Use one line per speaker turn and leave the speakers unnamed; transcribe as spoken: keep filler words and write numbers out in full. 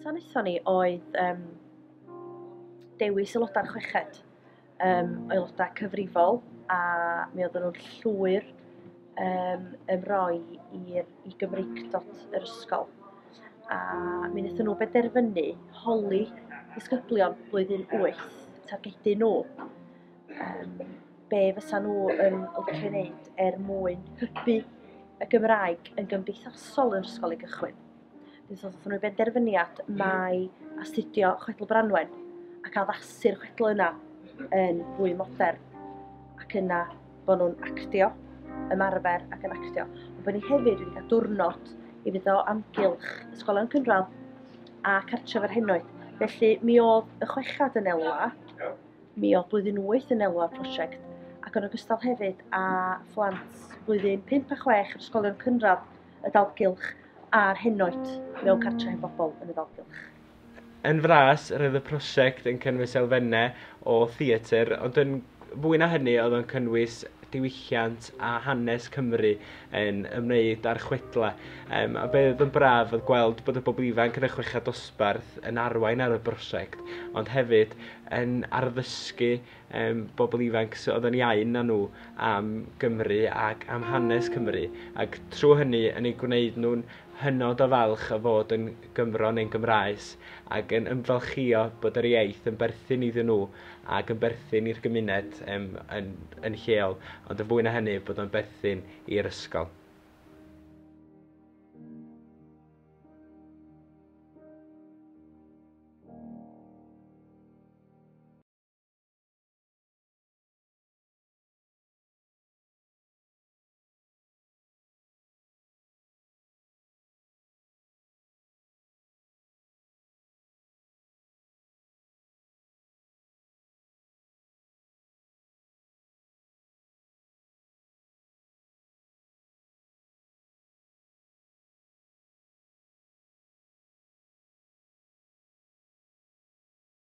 Cyntaf wnaethon ni oedd um, dewis aelodau'r chweched, um, aelodau cyfrifol, a mi oedden nhw'n llwyr um, ymroi i'r i Gymreictod yr ysgol. A mi wnaethon nhw benderfynu holi disgyblion blwyddyn wyth, targedu nhw, um, be fysa nhw yn licio wneud er mwyn hybu y Gymraeg yn gymdeithasol yn yr ysgol i gychwyn. Wnaethon nhw benderfyniad mai astudio Chwedl Branwen ac addasu'r chwedl yna yn fwy modern, ac yna bod nhw'n actio, ymarfer ac yn actio. Ond bod ni hefyd wedi cael diwrnod i fynd o amgylch ysgolion cynradd a cartref yr henoed. Felly mi oedd y chwechad yn elwa, mi oedd blwyddyn wyth yn elwa prosiect, ac yn ogystal hefyd â phlant blwyddyn pump a chwech yr ysgolion cynradd y dalgylch a'r henoed mewn cartref hen bobl yn y dalgylch.
Yn fras, roedd y prosiect yn cynnwys elfennau o theatr, ond yn fwy na hynny oedd o'n cynnwys diwylliant a hanes Cymru yn ymwneud â'r chwedlau. Um, a be oedd yn braf oedd gweld bod y bobl ifanc yn y chweched dosbarth yn arwain ar y brosiect, ond hefyd yn arddysgu um, bobl ifanc oedd yn iau na nhw am Gymru ac am hanes Cymru, ac trwy hynny yn eu gwneud nhw'n hynod o falch o fod yn Gymro neu'n Gymraes ac yn ymfalchïo bod yr iaith yn berthyn iddyn nhw ac yn berthyn i'r gymuned um, yn, yn lleol, ond yn fwy na hynny bod o'n berthyn i'r ysgol.